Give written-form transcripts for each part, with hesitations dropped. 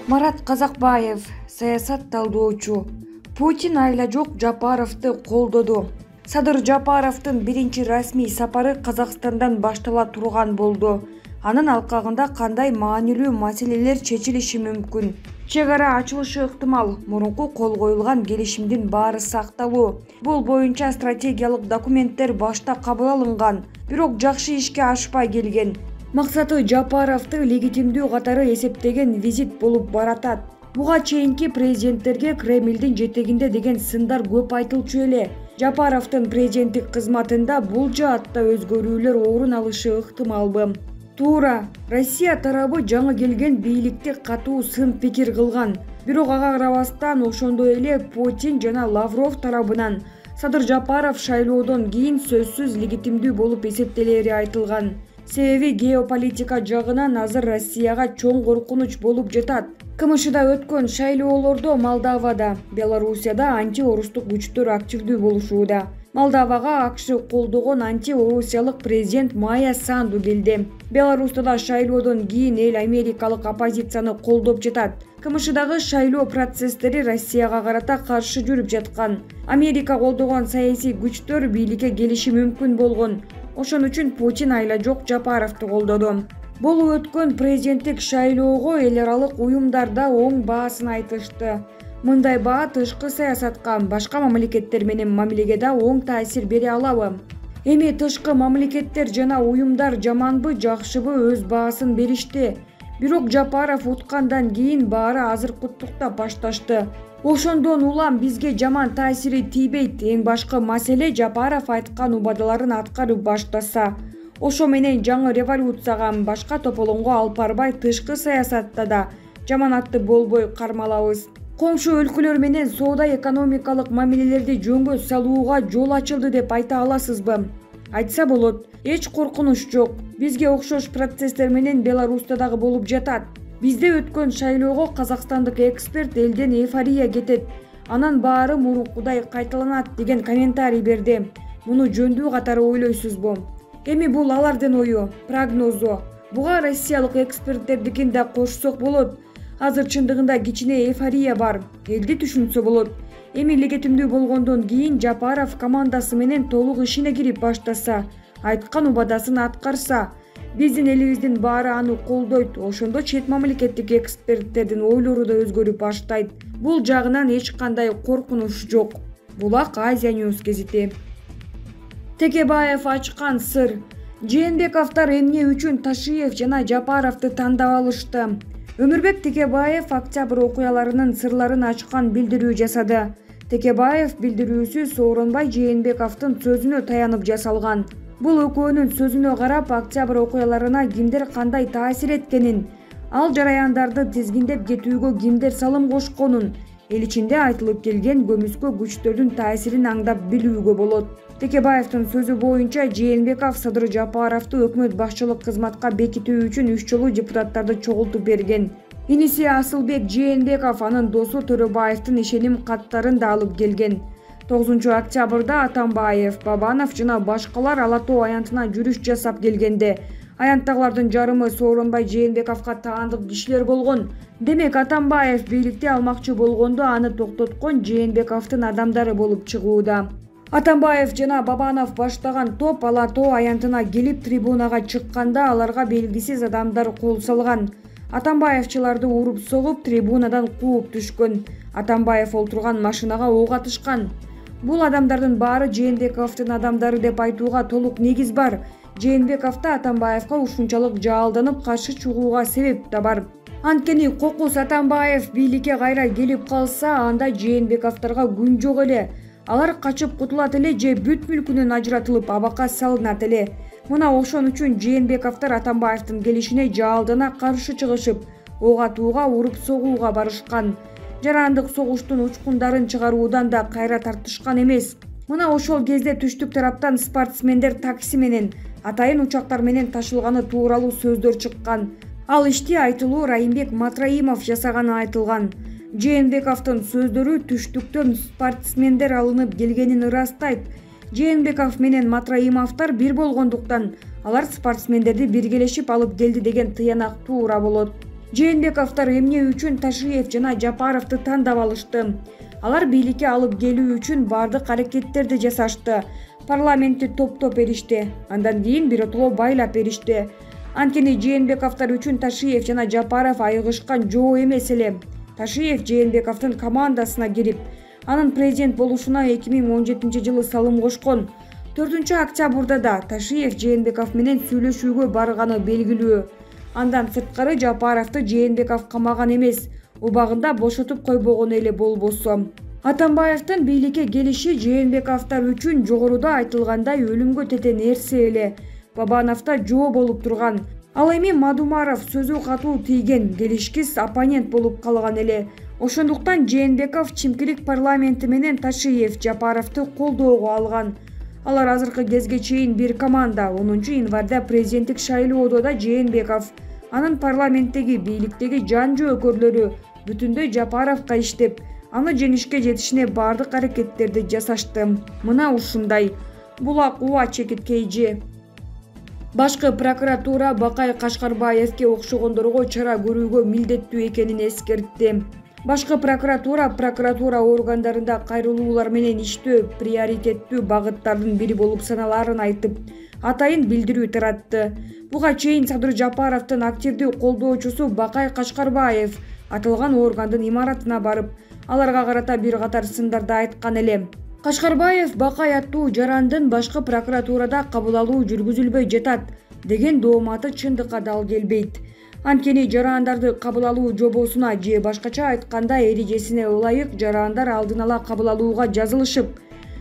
Марат Казакбаев, саясат талдоочу. Путин айла жок Жапаровду колдоду. Садыр Жапаровдун биринчи расмий сапары Казакстандан баштала турган болду. Анын алкагында кандай маанилүү маселелер чечилиши мүмкүн? Чек ара ачылышы ыктымал. Мурунку кол коюлган келишимдин баары сакталуу. Бул боюнча стратегиялык документтер башта кабыл алынган, бирок жакшы ишке ашпай келген. Максаты Жапаровду легитимдүү катары эсептеген визит болуп баратат. Буга чейинки президенттерге Кремлдин жетегинде деген сындар көп айтылчу эле. Жапаровдун президенттик кызматында бул жаатта өзгөрүүлөр орун алышы ыктымалбы? Туура, Россия тарабы жаңы келген бийликти катуу сын пикир кылган. Бирок ага карабастан ошондой эле Путин жана Лавров тарабынан Садыр Жапаров шайлоодон кийин сөзсүз легитимдүү болуп эсептелери айтылган. Себеби геополитика жагынан азыр Россияга чоң коркунуч болуп жатат. КМШда өткөн шайлоолордо Молдовада, Белоруссияда анти-орустук күчтөр активдүү болушууда. Молдовага АКШ колдогон анти-орусиялык президент Майя Санду келди. Беларусьта да шайлоодон кийин эл америкалык оппозицияны колдоп жатат. КМШдагы шайлоо процесстери Россияга карата каршы жүрүп жаткан. Америка колдогон саясий күчтөр бийликке келиши мүмкүн болгон. Ошон үчүн Путин айла жок Жапаровду колдоду. Болуп өткөн президенттик шайлоого эл аралык уюмдар да оң баасын айтышты. Мындай баа тышкы саясатка, башка мамлекеттер менен мамилеге да оң таасир бере алабы? Эми тышкы мамлекеттер жана уюмдар жаманбы, жакшыбы өз баасын беришти. Бирок Жапаров уткандан кийин баары азыркыттыктап башташты. Ошондон улам бизге жаман таасири тийбейт. Эң башкы маселе Жапаров айткан убадаларын аткарып баштаса. Ошо менен жаңы революцияга, башка тополоңго алып барбай тышкы саясатта да жаманатты болбой кармалабыз. Коңшу өлкөлөр менен соода-экономикалык мамилелерди жөнгө салууга жол ачылды деп айта аласызбы? Айтса болот. Эч коркунуч жок. Бизге окшош процесстер менен Беларусьта дагы болуп жатат. Бизде өткөн шайлоого казакстандык эксперт элден эйфория кетет. Анан баары мурункудай кайталанат деген комментарий берди. Муну жөндүү катары ойлойсузбу? Эми бул алардын ою, прогнозу. Буга россиялык эксперттердикин да кошсок болот. Азыр чындыгында кичине эйфория бар. Элди түшүнсө болот. Эми легитимдүү болгондон кийин Жапаров командасы менен толук ишине кирип баштаса, айткан убадасын аткарса, биздин элибиздин баары аны колдойт. Ошондо чет мамлекеттик эксперттердин ойлору да өзгөрүп баштайт. Бул жагынан эч кандай коркунуч жок. Булак Азия News гезити. Текебаев ачкан сыр. Жээнбековдор эмне үчүн Ташиев жана Жапаровду тандап алышты? Өмүрбек Текебаев октябрь окуяларынын сырларын ачкан билдирүү жасады. Текебаев билдирүүсү Сооронбай Жээнбековдун сөзүнө таянып жасалган. Бул экөөнүн сөзүнө карап, октябрь окуяларына кимдер кандай таасир эткенин, ал жараяндарды тизгиндеп кетүүгө кимдер салым кошконун, эл ичинде айтылып келген көмүскө күчтөрдүн таасирин аңдап билүүгө болот. Текебаевдин сөзү боюнча Жээнбеков Садыр Жапаровду өкмөт башчылык кызматка бекитүү үчүн 3 жолу депутаттарды чогултуп берген. Иниси Асылбек Жээнбеков анын досу Төрөбаевдин ишеним каттарын да алып келген. 9 октябрда Атамбаев, Бабанов жана башкалар Ала Тоо аянтына жүрүш жасап келгенде, аянттагылардын жарымы Сооронбай Жээнбековго таандык кишилер болгон. Демек Атамбаев бийликти алмакчы болгондо аны токтоткон Жээнбековдун адамдары болуп чыгууда. Атамбаев жана Бабанов баштаган топ Ала Тоо аянтына келип трибунага чыкканда аларга белгисиз адамдар кол салган. Атамбаевчыларды уруп согуп трибунадан кууп түшкөн. Атамбаев олтурган машинага ок атышкан. Бул адамдардын баары Жээнбековдун адамдары деп айтууга толук негиз бар. Жээнбеков да Атамбаевга ушунчалык жаалданып каршы чыгууга себеп да бар. Анткени Кокус Атамбаев бийликке кайра келип калса, анда Жээнбековдорго күн жок эле. Алар качып кутулат эле же бүт мүлкүнөн ажыратылып абакка салынат эле. Мына ошон үчүн Жээнбековдор Атамбаевдин келишине жаалдана каршы чыгышып, ок атууга, уруп согууга барышкан. Жарандык согуштун учкундарын чыгаруудан да кайра тартышкан эмес. Мына ошол кезде түштүк тараптан спортсмендер такси менен, атайын учактар менен ташылганы тууралуу сөздөр чыккан. Ал ишти айтылуу Райымбек Матраимов жасаганы айтылган. Жээнбековдун сөздөрү түштүктөн спортсмендер алынып келгенин ырастайт. Жээнбеков менен Матраимовдор бир болгондуктан алар спортсмендерди биргелешип алып келди деген тыянак туура болот. Жээнбековдор эмне үчүн Ташиев жана Жапаровду тандап алышты? Алар бийликке алып келүү үчүн бардык аракеттерди жасашты. Парламентти топтоп беришти. Андан кийин биротоло байлап беришти. Анткени Жээнбековдор үчүн Ташиев жана Жапаров айыгышкан жоо эмес эле. Ташиев Жээнбековдун командасына кирип, анын президент болушуна 2017-жылы салым кошкон. 4-октябрда да Ташиев Жээнбеков менен сүйлөшүүгө барганы белгилүү. Андан сырткары Жапаровду Жээнбеков камаган эмес, убагында бошотуп койбогон эле болбосо. Атамбаевдин бийликке келиши Жээнбековдор үчүн жогоруда айтылгандай өлүмгө тете нерсе эле. Бабановдо жоо болуп турган. Ал эми Мадумаров сөзү катуу тийген, келишкис оппонент болуп калган эле. Ошондуктан Жээнбеков Чимкирик парламенти менен Ташиев Жапаровду колдоого алган. Алар азыркы кезге чейин бир команда. 10-январда президенттик шайлоодо да Жээнбеков, анын парламенттеги бийликтеги жан жөөкөрлөрү бүтүндөй Жапаровго иштеп, аны жеңишке жетишине бардык аракеттерди жасашты. Мына ушундай. Булак УА чекиткейжи. Башкы прокуратура Бакай Кашкарбаевге окшогондорго чара көрүүгө милдеттүү экенин эскертти. Башкы прокуратура органдарында кайрылуулар менен иштөө приоритеттүү багыттардын бири болуп саналаарын айтып, атайын билдирүү таратты. Буга чейин Садыр Жапаровдун активдүү колдоочусу Бакай Кашкарбаев аталган органдын имаратына барып, аларга карата бир катар сындарды айткан эле. Кашкарбаев Бакай аттуу жарандын башкы прокуратурада кабыл алуу жүргүзүлбөй жатат деген дооматы чындыкка дал келбейт. Анткени жарандарды кабыл алуу жобосуна же башкача айтканда эрежесине ылайык жарандар алдын ала кабыл алууга жазылышып,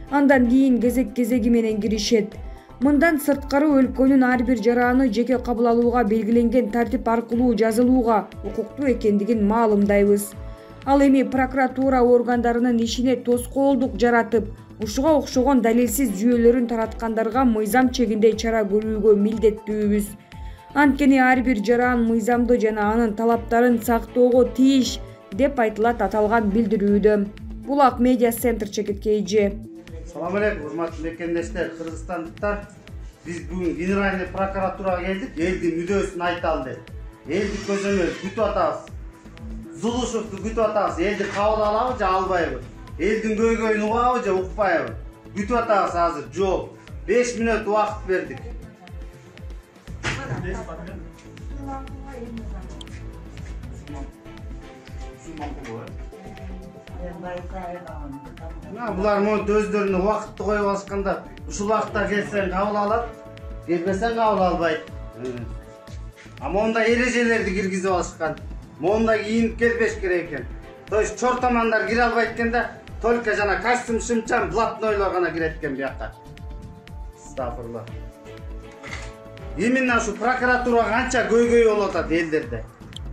андан кийин кезеги менен киришет. Мындан сырткары өлкөнүн ар бир жараны жеке кабыл алууга белгиленген тартип аркылуу жазылууга укуктуу экендигин маалымдайбыз. Ал эми прокуратура органдарынын ишине тоскоолдук жаратып, ушуга окшогон далилсиз жүйөлөрүн тараткандарга мыйзам чегинде чара көрүүгө милдеттүүбүз. Анткени ар бир жаран мыйзамды жана анын талаптарын сактоого тийиш деп айтылат аталган билдирүүдө. Булак медиа центр чекиткейжи. Салам алейкум, урматтуу мекендештер, кыргызстандыктар. Биз бүгүн генеральный прокуратурага келдик, элдин мүдөөсүн айталы деп. Элди көзөмөл күтүп атабыз. Зулушевду күтүп атабыз. Элди кабыл алабы же албайбы? Элдин көйгөйүн угабы же укпайбы? Күтүп атабыз азыр. Жооп. 5 мүнөт убакыт бердик. Булар монт өздөрүнө убакытты коюп алышканда, ушул убакытта келсең кабыл алат, келбесең кабыл албайт. Монда эрежелерди киргизип алышкан. Монда кийинип келбеш керек экен. То есть чортомандар кире албайт экен да, только жана костюм шымчан блатнойлор гана кирет экен буякка. Стафырлар. Именно ушу прокуратура канча көйгөй болуп атат элдерде.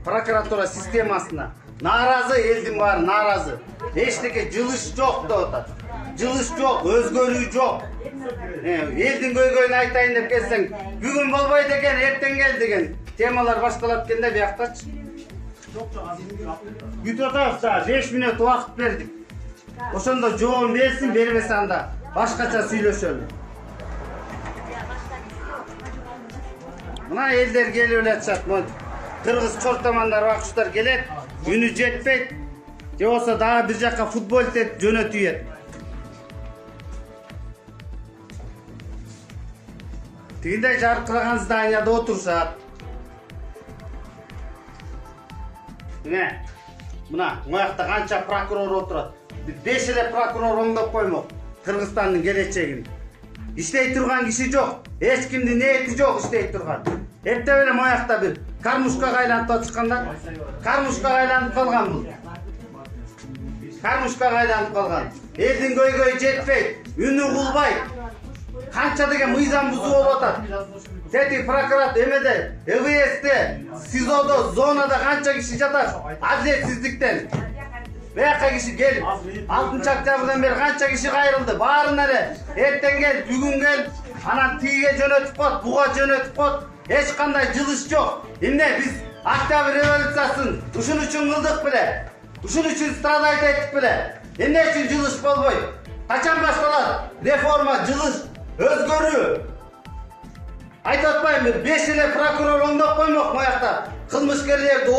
Прокуратура системасына нааразы, элдин баары нааразы. Эчтеке жылыш жок деп атат. Жылыш жок, өзгөрүү жок. Элдин көйгөйүн айтайын деп келсең, бүгүн болбойт экен, эртең кел деген темалар башталат экен да буяктачы. Күтүп атабыз, 5 мүнөт убакыт бердик. Ошондо жообун берсин, бербесе анда башкача сүйлөшөлү. Мына элдер келип эле атышат. Кыргыз чортомандар бакчылар келет, үнү жетпейт. Же болсо дагы бир жакка футбол теп жөнөтүп. Тигиндей жаркыраган зданияда отурушат. Мына моякта канча прокурор отурат. 5 эле прокурор оңдоп коймок Кыргызстандын келечегин. Иштей турган киши жок, эч кимдин ниети жок иштей турган. Эптеп эле моякта бир кармушкага айланып атышканда, кармушкага айланып калган бул. Кармушкага айланып калган. Элдин көйгөйү жетпейт, үнү кулбайт. Канча деген мыйзам бузуу болуп атат. Тети прокурат эмеде, ЭВСте, СИЗОдо, зонада канча киши жатат? Адилетсиздиктен. Буякка киши келип, 6-октябрдан бери канча киши кайрылды? Баарына эле эртең кел, бүгүн кел, анан тиге жөнөтүп коет, буга жөнөтүп коет. Эч кандай жылыш жок. Эмне биз Октябрь революциясын ушун үчүн кылдык беле? Ушун үчүн страдать эттик беле? Эмне үчүн жылыш болбойт? Качан башталат? Реформа, жылыш, өзгөрүү. Айтып атпаймынбы? 5 эле прокурор оңдоп коймок моякта. Кылмышкерлерди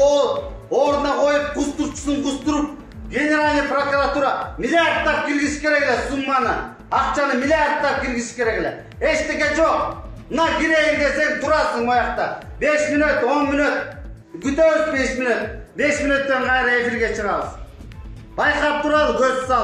ордуна коюп, кустуруп, Генеральный прокуратура миллиардтап киргизиш керек эле сумманы. Акчаны миллиардтап киргизиш керек эле. Эчтеке жок. Мына кирейин десең турасың моякта. 5 мүнөт, 10 мүнөт. Күтөбүз 5 мүнөт. 5 мүнөттөн кайра эфирге чыгабыз. Байкап туралы көз сал.